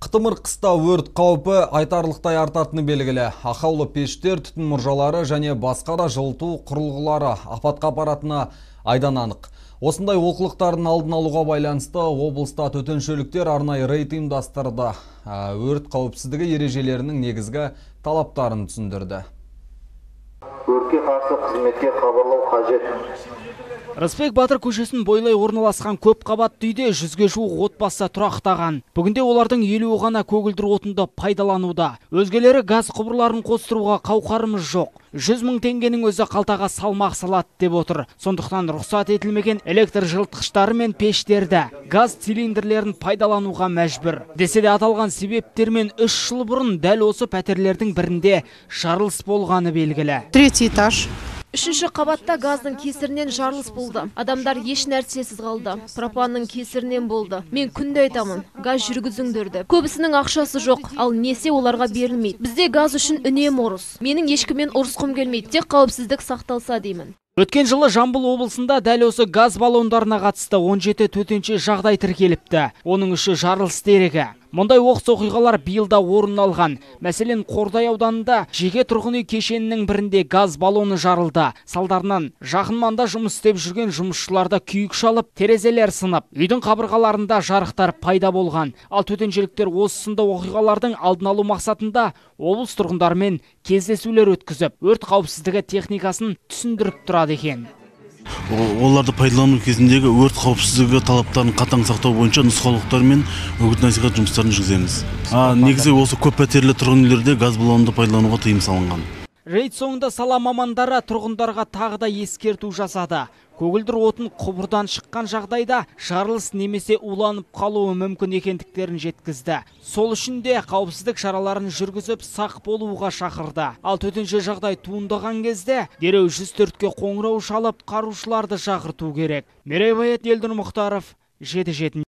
Қытымыр қыста өрт қаупі айтарлықтай артатыны белгілі. Ақаулы пештер, түтін мұржалары және басқа да жылыту құрылғылары апатқа апаратыны айдан анық. Осындай олқылықтардың алдын алуға байланысты облыста төтеншеліктер арнайы рейд ұйымдастырды. Өрт қауіпсіздігі ережелерінің негізгі талаптарын түсіндірді. Өртке қарсы қызметке хабарлау қажет. Рысбек Батыр көшесін бойлай орналасқан көп қабатты үйде 100-ге жуық отбасы тұрақтаған. Бүгінде олардың 50 ғана көгілдір отынды пайдалануда. Өзгелері газ құбырларын қостыруға қауқарымыз жоқ. 100 мың теңгенің өзі қалтаға салмақ салады деп отыр. Сондықтан рұқсат етілмеген электр жылытқыштары мен пештерді, газ цилиндрлерін пайдалануға мәжбүр. Десе де аталған себептермен 3 жыл бұрын дәл осы пәтерлердің бірінде жарылыс болғаны белгілі. 3 этаж. Үшінші қабатта газдың кесірінен жарылыс болды. Адамдар еш нәрсесіз қалды. Пропанның кесірінен болды. Мен күнде айтамын, газ жүргізіңдерді. Көбісінің ақшасы жоқ, ал несе оларға берілмейді. Бізде газ үшін үнемі ұрыс. Менің ешкіммен ұрысқым келмейді, тек қауіпсіздік сақталса деймін. Өткен жылы Жамбыл облысында дәл осы газ баллондарына қатысты 17 төтенше жағдай тіркеліпті. Оның үші жарылыс дерегі. Мұндай оқыс оқиғалар биылда орын алған. Мәселен, Қордай ауданында жеке тұрғын үй кешенінің бірінде газ баллоны жарылды. Салдарынан жақын маңда жұмыс істеп жүрген жұмысшыларда күйік шалып, терезелер сынып, үйдің қабырғаларында жарықтар пайда болған. Ал төтеншеліктер осы сынды оқиғалардың алдын алу мақсатында облыс тұрғындарымен кездесулер өткізіп, өрт қауіпсіздігі техникасын түсіндіріп тұрады екен. Оларды пайдалану кезіндегі өрт қауіпсіздігі талаптарын қатаң сақтау бойынша нұсқаулықтар мен үгіт-насихат жұмыстарын жүргіземіз. Негізі осы көп пәтерлі тұрғын үйлерде газ баллонды пайдалануға тыйым салынған. Рейд соңында сала мамандары тұрғындарға тағы да ескерту жасады. Көгілдір отын құбырдан шыққан жағдайда жарылыс немесе уланып қалуы мүмкін екендіктерін жеткізді. Сол үшін де қауіпсіздік шараларын жүргізіп сақ болуға шақырды. Ал төтенше жағдай туындаған кезде дереу 104-ке қоңырау шалып, құтқарушыларды шақырту керек. Мерей Байет, Елдір Мұхтаров, 7-7.